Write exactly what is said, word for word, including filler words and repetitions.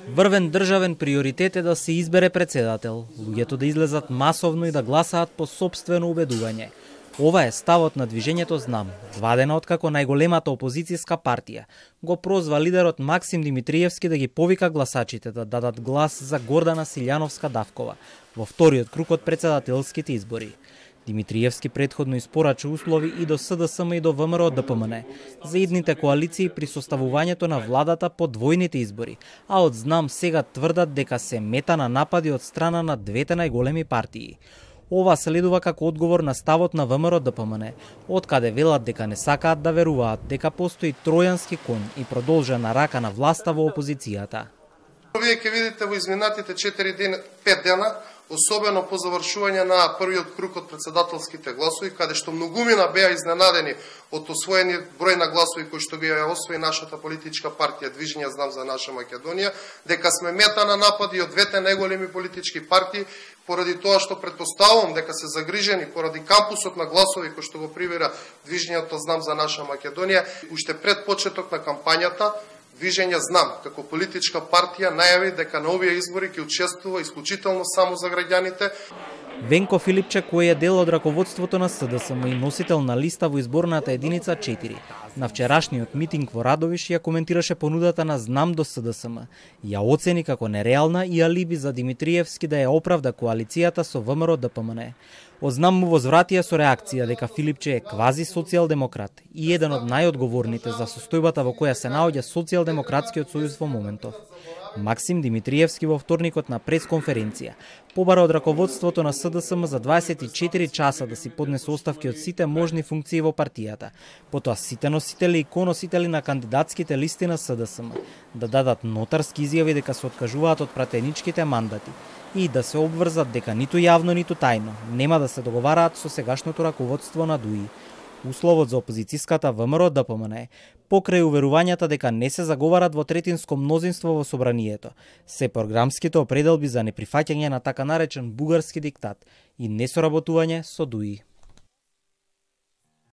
Врвен државен приоритет е да се избере председател, луѓето да излезат масовно и да гласаат по сопствено убедување. Ова е ставот на движењето Знам, два дена откако најголемата опозицијска партија го прозва лидерот Максим Димитриевски да ги повика гласачите да дадат глас за Гордана Силјановска-Давкова во вториот круг од председателските избори. Димитриевски претходно испорача услови и до СДСМ и до ВМРО Д П М Н за идните коалиции при составувањето на владата по двојните избори, а од Знам сега тврдат дека се мета на напади од страна на двете најголеми партии. Ова следува како одговор на ставот на ВМРО Д П М Н, откаде велат дека не сакаат да веруваат дека постои тројански кон и продолжена рака на власта во опозицијата. Вие ќе видите во изминатите четири дена, пет дена, особено по завршување на првиот круг од председателските гласови, каде што многумина беа изненадени од освоени број на гласови кои што ги освои нашата политичка партија Движење Знам за наша Македонија, дека сме мета на напади од двете најголеми политички партии, поради тоа што претпоставувам дека се загрижени поради кампусот на гласови кој што го прибира Движењето Знам за наша Македонија, уште пред почеток на кампањата Движење Знам, како политичка партија, најави дека на овие избори ќе учествува исклучително само за граѓаните. Венко Филипче, кој е дел од раководството на СДСМ и носител на листа во изборната единица четири, на вчерашниот митинг во Радовиш ја коментираше понудата на Знам до СДСМ. Ја оцени како нереална и алиби за Димитриевски да ја оправда коалицијата со ВМРО Д П М Н. Од Знам му возвратија со реакција дека Филипче е квази социјалдемократ и еден од најодговорните за состојбата во која се наоѓа Социјалдемократскиот сојуз во моментов. Максим Димитриевски во вторникот на пресконференција побара од раководството на СДСМ за дваесет и четири часа да си поднесе оставки од сите можни функции во партијата, потоа сите носители и коносители на кандидатските листи на СДСМ да дадат нотарски изјави дека се откажуваат од пратеничките мандати и да се обврзат дека ниту јавно, ниту тајно нема да се договараат со сегашното раководство на ДУИ. Условот за опозицијската ВМРО Д П М Н покрај уверувањата дека не се заговарат во третинско мнозинство во собранието, се програмските определби за неприфаќање на така наречен бугарски диктат и несоработување со ДУИ.